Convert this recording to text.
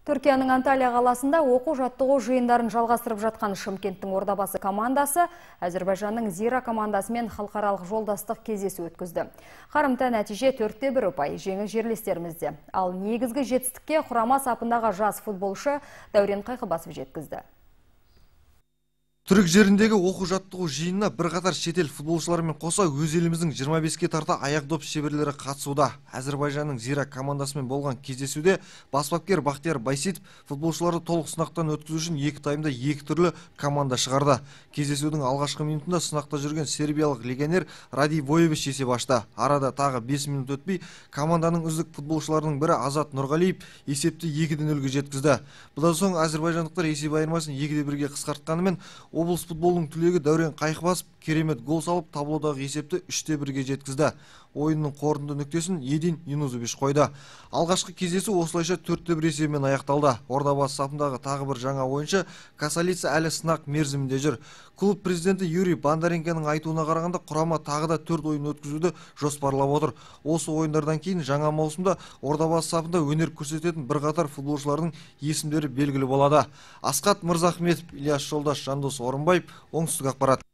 Түркияның Анталия қаласында оқу-жаттығу жиындарын жалғастырып жатқан Шымкенттің Ордабасы командасы Әзербайжанның Зира командасымен халықаралық жолдастық кездесу өткізді. Қарымта нәтиже 4-1 ұпай, жеңіл жерлестерімізде. Ал негізгі жетістікке құрама сапындағы жас футболшы Дәурен Қайқыбасов жеткізді. Түрік жеріндегі оқу-жаттығу жиынына бірқатар шетел футболшыларымен қоса өз еліміздің 25-ке тарта аяқ доп шеберлері қатысуда. Әзербайжанның Зира командасымен болған кездесуде бас бапкер Бақтияр Байситов футболшыларды толық сынақтан өткізу үшін 2 таймда 2 түрлі команда шығарды. Кездесудің алғашқы минутында сынақта жүрген сербиялық легионер Ради Воевич есеп ашты. Арада тағы 5 минут өтпей команданың үздік футболшыларының бірі Азат Нұрғалиев есепті 2-0-ге жеткізді. Бұдан соң әзербайжандықтар есеп айырмасын 2-1-ге қысқартқанымен облыс футболының түлегі Дәурен Қайқыбасов керемет гол салып, таблодағы есепті 3-1-ге жеткізді. Ойынның қорытынды нүктесін Един Юнузович қойды. Алғашқы кездесу осылайша 4-1 есебімен аяқталды. Ордабасы сапындағы тағы бір жаңа ойыншы Касалица әлі сынақ мерзімінде жүр. Клуб президенті Юрий Бондаренконың айтуына қарағанда құрама тағы да 4 ойын өткізуді жоспарлап отыр. Осы ойындардан кейін жаңа маусымда Ордабасы сапында өнер көрсететін бірқатар футболшылардың есімдері белгілі болады. Асқат Мырзахметов, Ильяс Жолдаш, Жандос Орынбаев, Оңтүстік ақпарат.